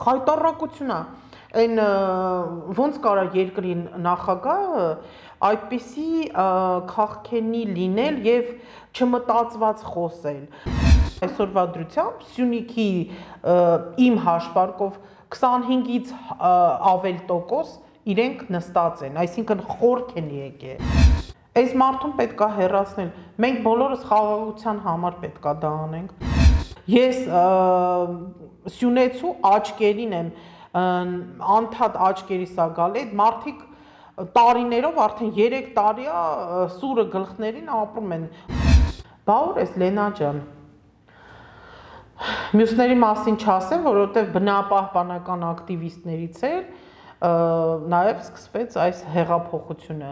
Խայտառակությունն է, այն ոնց կարա երկրի նախագահը այդպիսի քաղքենի լինել եւ չմտածված խոսել։ Այսօրվա դրությամբ Սյունիքի իմ հաշվարկով 25-ից ավել տոկոս իրենք նստած են, այսինքն խորք են եկել։ Այս մարդուն պետք է հեռացնել, մենք բոլորս խաղաղության համար պետք է դա անենք։ Ես Սյունեցու աչքերին եմ, անդադ աչքերիս է գալի, այդ մարդիկ տարիներով, արդեն 3 տարի է սուրը գլխներին ապրում են։ Բա ուր ես Լենա ջան։ Մյուսների մասին չասեմ, որովհետև բնապահպանական ակտիվիստներից էր, նաև սկսվեց այս հեղափոխությունը։